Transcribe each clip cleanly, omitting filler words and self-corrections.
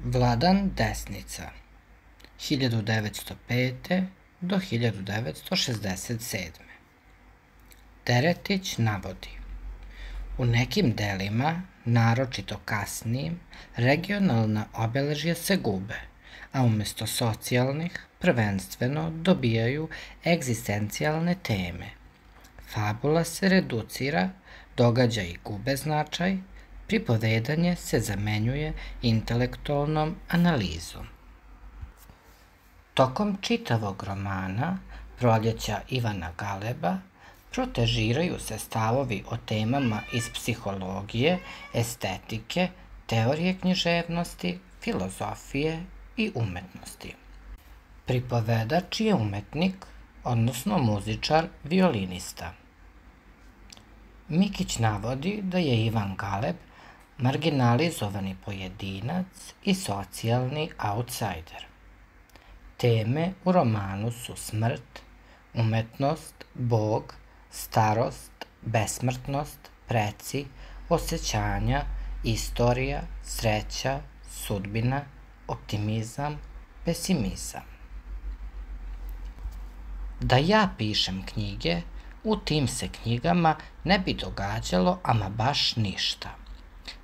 Vladan Desnica, 1905. do 1967. Teretić navodi: u nekim delima, naročito kasnijim, regionalna obeležja se gube, a umesto socijalnih prvenstveno dobijaju egzistencijalne teme. Fabula se reducira, događaji gube značaj, pripovedanje se zamenjuje intelektualnom analizom. Tokom čitavog romana Proljeća Ivana Galeba protežiraju se stavovi o temama iz psihologije, estetike, teorije književnosti, filozofije i umetnosti. Pripovedač je umetnik, odnosno muzičar, violinista. Mikić navodi da je Ivan Galeb marginalizovani pojedinac i socijalni outsider. Teme u romanu su smrt, umetnost, Bog, starost, besmrtnost, preci, osjećanja, istorija, sreća, sudbina, optimizam, pesimizam. Da ja pišem knjige, u tim se knjigama ne bi događalo ama baš ništa.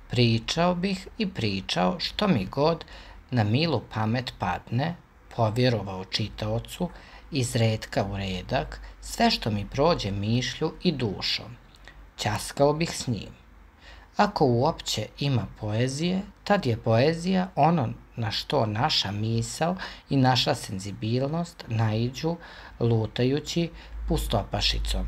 Pričao bih i pričao što mi god na milu pamet padne, povjerovao čitaocu, iz retka u redak, sve što mi prođe mišlju i dušom. Ćaskao bih s njim. Ako uopće ima poezije, tad je poezija ono na što naša misao i naša senzibilnost naiđu lutajući pustopašicom.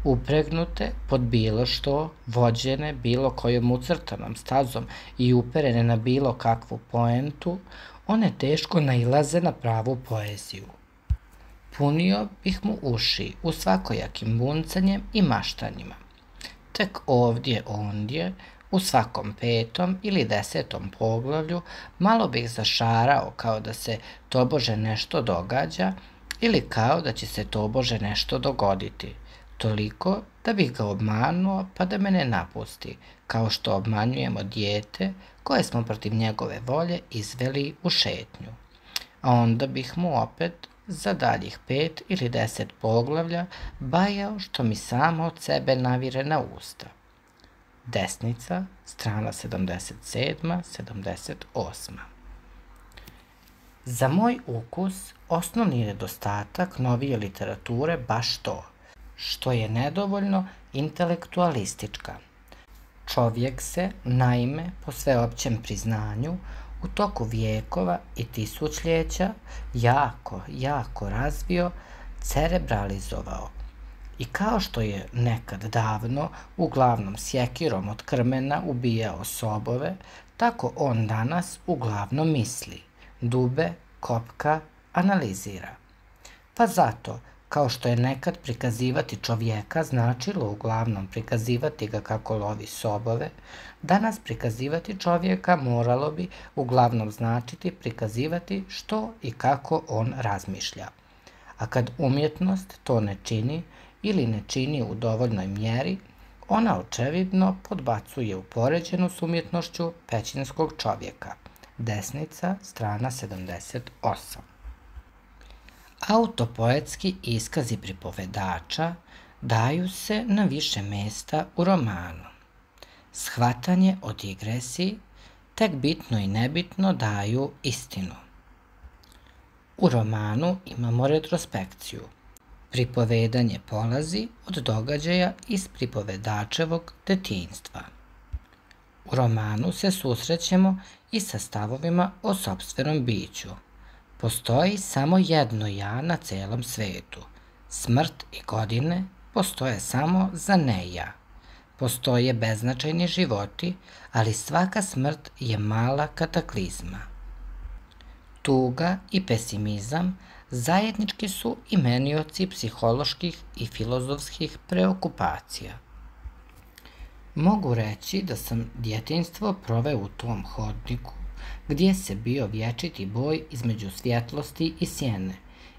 Upregnute pod bilo što, vođene bilo kojom ucrtanom stazom i uperene na bilo kakvu poentu, one teško nailaze na pravu poeziju. Punio bih mu uši u svakojakim buncanjem i maštanjima. Tek ovdje, ondje, u svakom 5. ili 10. poglavlju malo bih zašarao kao da se tobože nešto događa ili kao da će se tobože nešto dogoditi, toliko da bih ga obmanuo pa da me ne napusti, kao što obmanjujemo dijete koje smo protiv njegove volje izveli u šetnju. A onda bih mu opet za daljih 5 ili 10 poglavlja bajao što mi samo od sebe navire na usta. Desnica, strana 77. 78. Za moj ukus, osnovni nedostatak novije literature baš to, što je nedovoljno intelektualistička. Čovjek se, naime, po sveopćem priznanju, u toku vijekova i tisućljeća jako razvio, cerebralizovao. I kao što je nekad davno uglavnom sjekirom od krmena ubijao sobove, tako on danas uglavnom misli, dube, kopka, analizira. Pa zato, kao što je nekad prikazivati čovjeka značilo uglavnom prikazivati ga kako lovi sobove, danas prikazivati čovjeka moralo bi uglavnom značiti prikazivati što i kako on razmišlja. A kad umjetnost to ne čini ili ne čini u dovoljnoj mjeri, ona očevidno podbacuje u poređenu s umjetnošću pećinskog čovjeka. Desnica, strana 78. Autopoetski iskazi pripovedača daju se na više mjesta u romanu. Shvatanje o digresiji tek bitno i nebitno daju istinu. U romanu imamo retrospekciju. Pripovedanje polazi od događaja iz pripovedačevog detinjstva. U romanu se susrećemo i sa stavovima o sopstvenom biću. Postoji samo jedno ja na celom svetu. Smrt i godine postoje samo za ne ja. Postoje beznačajni životi, ali svaka smrt je mala kataklizma. Tuga i pesimizam zajednički su imenioci psiholoških i filozofskih preokupacija. Mogu reći da sam djetinjstvo proveo u tom hodniku, gdje se bio vječiti boj između svjetlosti i sjene,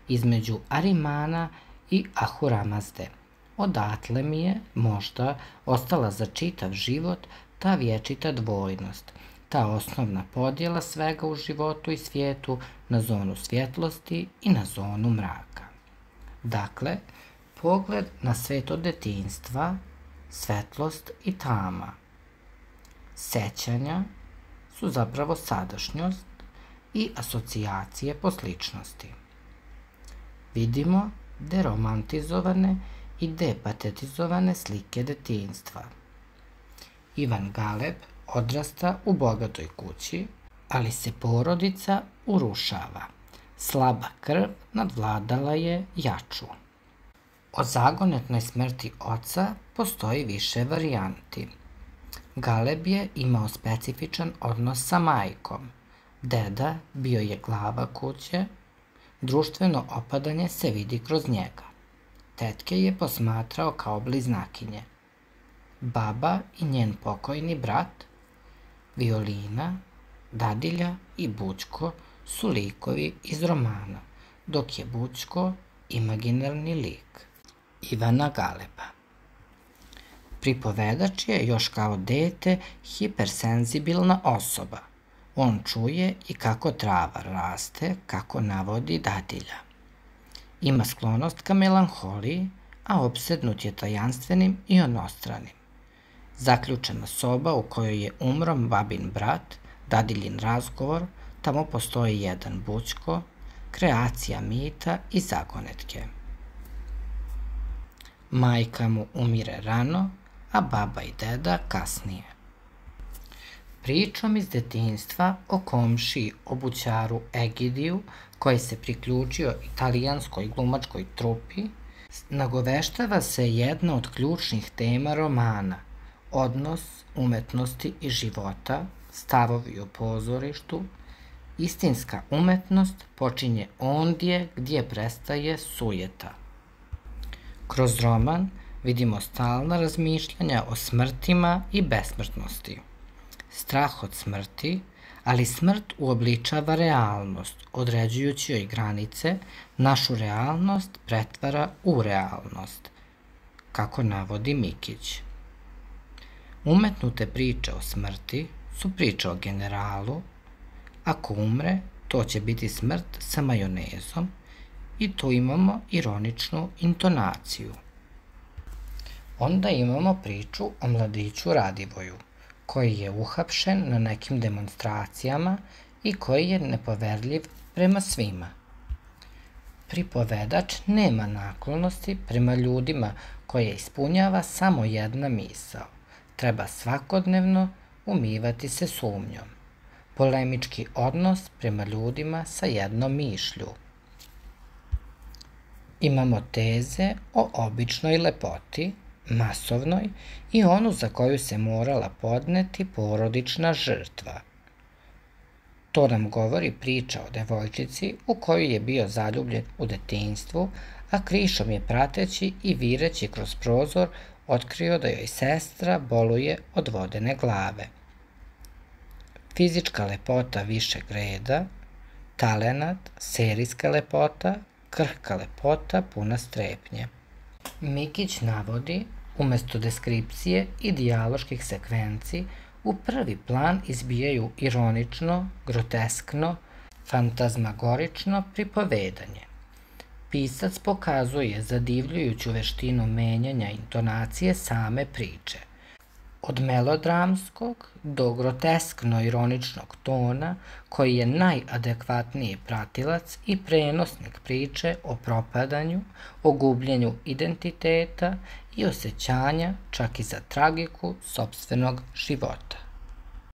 između Arimana i Ahuramazde. Odatle mi je, možda, ostala za čitav život ta vječita dvojnost, ta osnovna podjela svega u životu i svijetu na zonu svjetlosti i na zonu mraka. Dakle, pogled na svet od detinjstva, svetlost i tama. Sećanja su zapravo sadašnjost i asocijacije po sličnosti. Vidimo deromantizovane i depatetizovane slike detinjstva. Ivan Galeb odrasta u bogatoj kući, ali se porodica urušava. Slaba krv nadvladala je jaču. O zagonetnoj smrti oca postoji više varijanti. Galeb je imao specifičan odnos sa majkom. Deda bio je glava kuće, društveno opadanje se vidi kroz njega. Tetke je posmatrao kao bliznakinje. Baba i njen pokojni brat, Violina, Dadilja i Bućko su likovi iz romana, dok je Bućko imaginarni lik Ivana Galeba. Pripovedač je još kao dete hipersenzibilna osoba. On čuje i kako trava raste, kako navodi Dadilja. Ima sklonost ka melanholiji, a opsednut je tajanstvenim i onostranim. Zaključena soba u kojoj je umro babin brat, Dadiljin razgovor, tamo postoji jedan Bućko, kreacija mita i zagonetke. Majka mu umire rano, a baba i deda kasnije. Pričom iz detinjstva o komšiji obućaru Egidiju, koji se priključio italijanskoj glumačkoj trupi, nagoveštava se jedna od ključnih tema romana, odnos umetnosti i života, stavovi o pozorištu. Istinska umetnost počinje ondje gdje prestaje sujeta. Kroz roman vidimo stalna razmišljanja o smrtima i besmrtnosti. Strah od smrti, ali smrt uobličava realnost, određujući joj granice, našu realnost pretvara u realnost, kako navodi Mikić. Umetnute priče o smrti su priče o generalu. Ako umre, to će biti smrt sa majonezom i tu imamo ironičnu intonaciju. Onda imamo priču o mladiću Radivoju, koji je uhapšen na nekim demonstracijama i koji je nepoverljiv prema svima. Pripovedač nema naklonosti prema ljudima koje ispunjava samo jedna misao. Treba svakodnevno umivati se sumnjom. Polemički odnos prema ljudima sa jednom mišlju. Imamo teze o običnoj lepoti, masovnoj i onu za koju se morala podneti porodična žrtva. To nam govori priča o devojčici u koju je bio zaljubljen u detinjstvu, a krišom je prateći i vireći kroz prozor otkrio da joj sestra boluje od vodene glave. Fizička lepota višeg reda, talenat, serijska lepota, krhka lepota puna strepnje. Mikić navodi, umesto deskripcije i dijaloških sekvenci, u prvi plan izbijaju ironično, groteskno, fantazmagorično pripovedanje. Pisac pokazuje zadivljujuću veštinu menjanja intonacije same priče. Od melodramskog do groteskno-ironičnog tona, koji je najadekvatniji pratilac i prenosnik priče o propadanju, o gubljenju identiteta i osjećanja čak i za tragiku sopstvenog života.